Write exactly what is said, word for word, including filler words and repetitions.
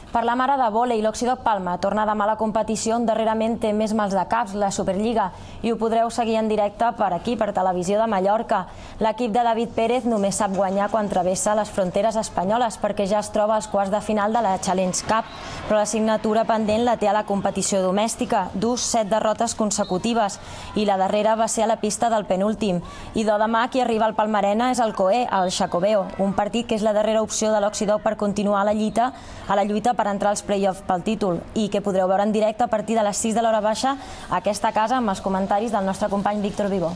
Per la mare de vòlei, l'Oxidoc Palma torna demà a la competició on darrerament té més mals de caps, la Superliga, i ho podreu seguir en directe per aquí, per Televisió de Mallorca. L'equip de David Pérez només sap guanyar quan travessa les fronteres espanyoles perquè ja es troba als quarts de final de la Challenge Cup, però l'assignatura pendent la té a la competició domèstica, dus set derrotes consecutives, i la darrera va ser a la pista del penúltim. I de demà qui arriba al Palmarena és el Coe, el Xacobeo, un partit que és la darrera opció de l'Oxidoc per continuar a la lluita, a la lluita per entrar als play-offs pel títol, i que podreu veure en directe a partir de les sis de l'hora baixa a aquesta casa amb els comentaris del nostre company Víctor Vivó.